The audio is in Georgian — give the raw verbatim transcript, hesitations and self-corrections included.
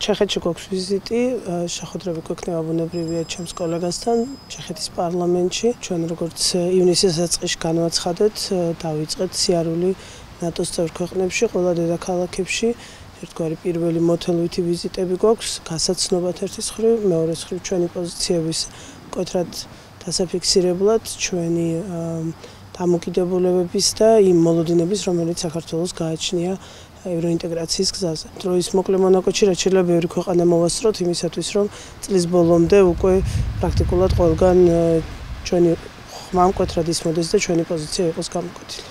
ჩეხეთში გვაქვს ვიზიტი, შეხვედრები გვექნება ბუნებრივია ჩემს კოლეგასთან ჩეხეთის პარლამენტში. ჩვენ როგორც ივნისის დასაწყისში განვაცხადეთ, დავიწყეთ სიარული ნატოს წევრ ქვეყნებში, ყველა დედაქალაქებში. ერთგვარი პირველი მოთელვითი ვიზიტები გვაქვს, გასაცნობად ერთის მხრივ, მეორეს მხრივ ჩვენი პოზიციების მკვეთრად დასაფიქსირებლად, ჩვენი დამოკიდებულებების და იმ მოლოდინების, რომელიც საქართველოს გააჩნია ევროინტეგრაციის გზაზე. დროის მოკლე მონაკვეთში რაც შეიძლება ბევრი ქვეყანა მოვასწროთ იმისათვის, რომ წლის ბოლომდე უკვე პრაქტიკულად ყველგან ჩვენი ხმა მკვეთრად ისმოდეს და ჩვენი პოზიცია იყოს გამოკვეთილი.